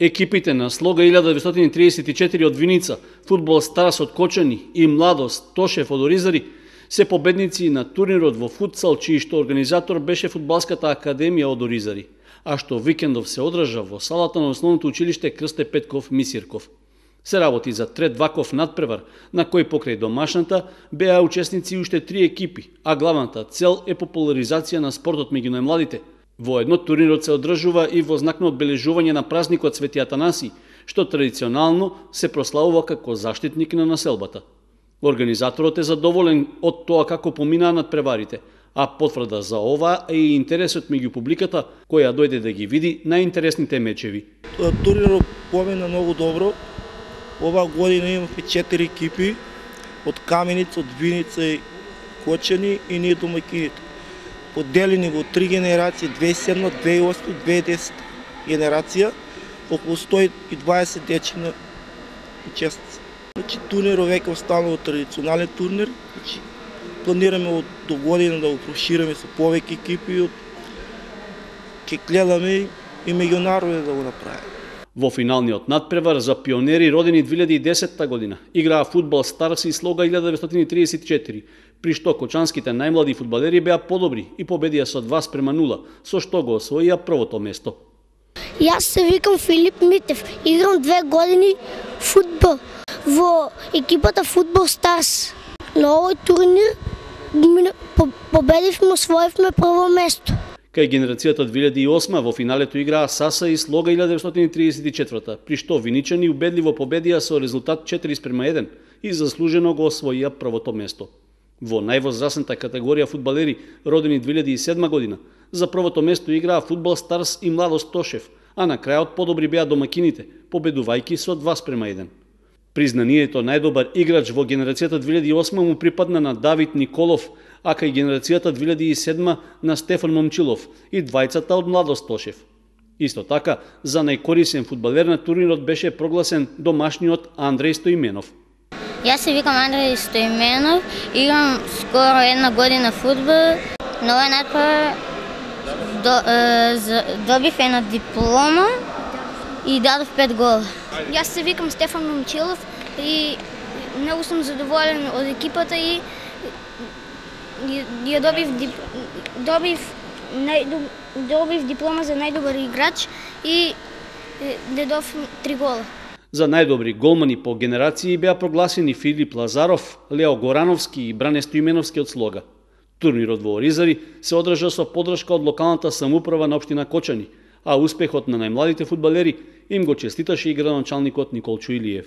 Екипите на Слога 1934 од Виница, Фудбал Старс од Кочани и Младост Тошев од Оризари се победници на турнирот во футсал, чиј што организатор беше Фудбалската академија од Оризари, а што викендов се одржа во салата на основното училиште Крсте Петков Мисирков. Се работи за трет ваков надпревар, на кој покрај домашната беа учесници уште 3 екипи, а главната цел е популаризација на спортот меѓу најмладите. Воедно турнирот се одржува и во знак на одбележување на празникот Свети Атанаси, што традиционално се прославува како заштитник на населбата. Организаторот е задоволен од тоа како поминаа надпреварите, а потврда за ова е и интересот меѓу публиката која дојде да ги види најинтересните мечеви. Турнирот помина многу добро. Ова година имавме 4 екипи од Каменица, од Виница и Кочани и ние домакините. Поделени во 3 генерации, 2007, 2008, 2010 генерација, околу 120 дечина учесници. Турнирот веќе останува традиционален турнир. Планираме до година да го прошириме со повеќе екипи. Ќе гледаме и меѓународно да го направиме. Во финалниот надпревар за пионери родени 2010 година играа Фудбал Старс и Слога 1934, при што кочанските најмлади фудбалери беа подобри и победија со 2:0, со што го освоија првото место. Јас се викам Филип Митев, играм 2 години фудбал во екипата Фудбал Старс. На овој турнир победивме, освоивме прво место. Кај генерацијата 2008 во финалето играа Саса и Слога 1934, при што виничани убедливо победија со резултат 4:1 и заслужено го освоија првото место. Во највозрасната категорија фудбалери родени 2007 година за првото место играа Фудбал Старс и Младост Тошев, а на крајот подобри беа домакините, победувајќи со 2:1. Признанието најдобар играч во генерацијата 2008 му припадна на Давид Николов, а кај генерацијата 2007 на Стефан Момчилов и двајцата од Младост Тошев. Исто така, за најкорисен фудбалер на турнирот беше прогласен домашниот Андреј Стоименов. Јас се викам Андреј Стоименов, играм скоро 1 година фудбал. На овој надпревар добив една диплома и дадов 5 гола. Јас се викам Стефан Момчилов и многу сум задоволен од екипата и ја добив диплома за најдобар играч и дадов 3 гола. За најдобри голмани по генерации беа прогласени Филип Лазаров, Лео Горановски и Бране Стоименовски од Слога. Турнирот во Оризари се одржа со поддршка од локалната самоуправа на општина Кочани, а успехот на најмладите фудбалери им го честиташе и градоначалникот Николчо Илиев.